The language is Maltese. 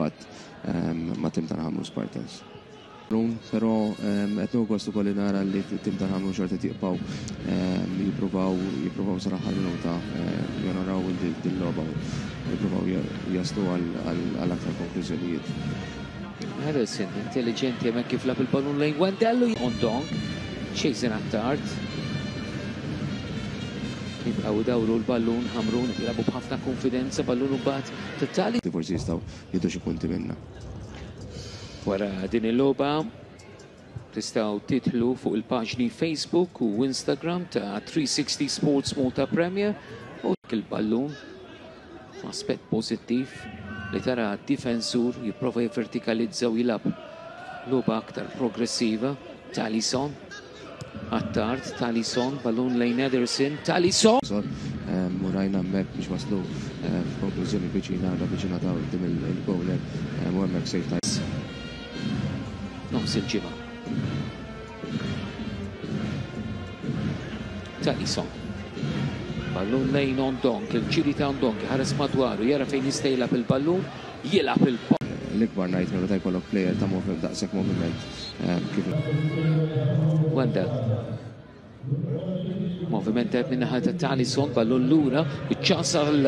impatt ma' tim tal-Ħamrun Spartans. Però qed nieħu gost ukoll li nara li t-tim tal-Ħamrun xorta qed jibqgħu jippruvaw jippruvaw sal-aħħar minuta jonoraw din logħba u jippruvaw jaslu għal aktar konklużjonijiet. Harrison intelligenti hemmhekk kif lab il-ballun lejn Wendell u Ondong. Jason Attard. Jibqgħu dawru l-ballun Ħamrun qed jilagħbu b'ħafna konfidenza ballun u mbagħad totali. Forsi jistgħu jieħdu xi punti minnha. Wara din il-logħba tistgħu tidħlu fuq il-paġni Facebook u Instagram ta' 360 Sports Malta Premier u il-ballun aspett pożittiv li tara difensur jipprova jivvertikalizza u jilgħab logħba aktar progressiva. Talison Attard, Talison, ballun lejn Ederson, Talison! U rajna hemmhekk biex waslu f'konklużjoni viċina, viċina ta' quddiem il-bowler u hemmhekk save ta' Nofs il-ġimgħa. Talison. Ballun lejn Ondonk, il-ġiri ta' Ondonk, ħares madwaru, jara fejn jista' jilgħab il-ballun, jilgħab il L-ikbar nightmare meta jkollok player ta' moviment daqshekk moviment kif. Wendell. Moviment tajb min-naħa ta' Talison, ballun lura, iċ-ċans għal.